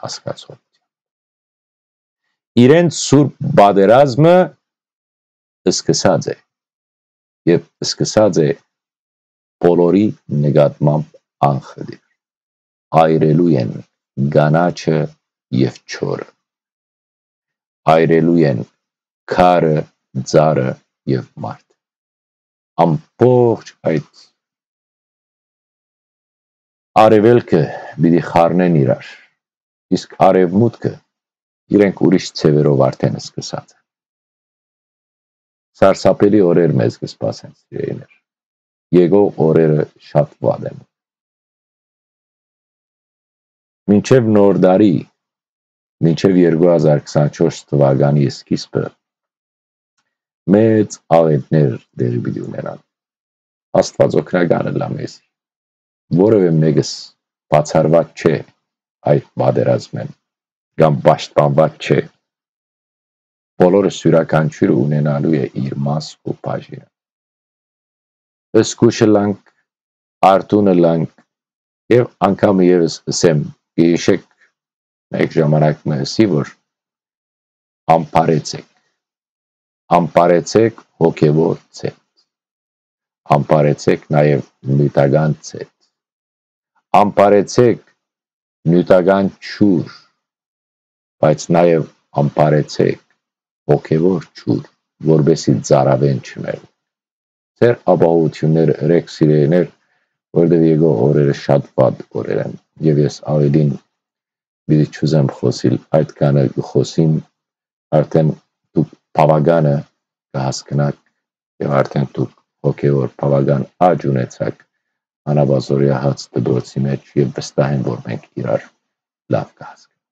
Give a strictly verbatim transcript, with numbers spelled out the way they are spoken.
հասկացողութեան։ Իրենց սուրբ պատերազմը սկսած է եւ սկսած է բոլորի նկատմամբ անխտիր։ Այրելու են կանաչը եւ չորը։ Այրելու են քարը, ծառը եւ մարդ։ Ամբողջ այդ արեւելքը պիտի խառնեն իրար, իսկ արեւմուտքը իրենք ուրիշ ձեւերով արդեն սկսած են։ Սարսափելի օրեր մեզ կը սպասեն, սիրելիներ։ Եկող օրերը շատ վատ են։ Մինչեւ Նոր տարի, մինչեւ երկու հազար քսանչորս թուականի սկիզբը, մեծ աղէտներ տեղի պիտի ունենան։ Աստուած օգնական ըլլայ մեզի։ Որեւէ մէկս բացառուած չէ այդ պատերազմէն կամ պաշտպանուած չէ։ Բոլորս իւրաքանչիւրը ունենալու է իր մաս ու բաժինը։ Զգոյշ ըլլանք, արթուն ըլլանք եւ անգամ եւս ըսեմ, կը յիշէք, մէկ ժամանակ մը ըսի, որ ամբարեցէք, ամբարեցէք հոգեւոր ձեթ, ամբարեցէք նաեւ նիւթական ձեթ, ամբարեցէք նիւթական ջուր, բայց նաեւ ամբարեցէք հոգեւոր ջուր, որպեսզի ծարաւեն չմեռնի։ Ձեր ապահովութիւնները ըրէք, սիրելիներ, որովհետեւ եկող օրերը շատ վատ օրեր են, եւ ես աւելին պիտի չուզեմ խօսիլ, այդքանը կը խօսիմ, արդեն դուք բաւականը կը հասկնաք եւ արդեն դուք հոգեւոր բաւական աճ ունեցաք անապազօրեայ հաց դպրոցի մէջ եւ վստահ եմ, որ մենք իրար լաւ կը հասկնանք։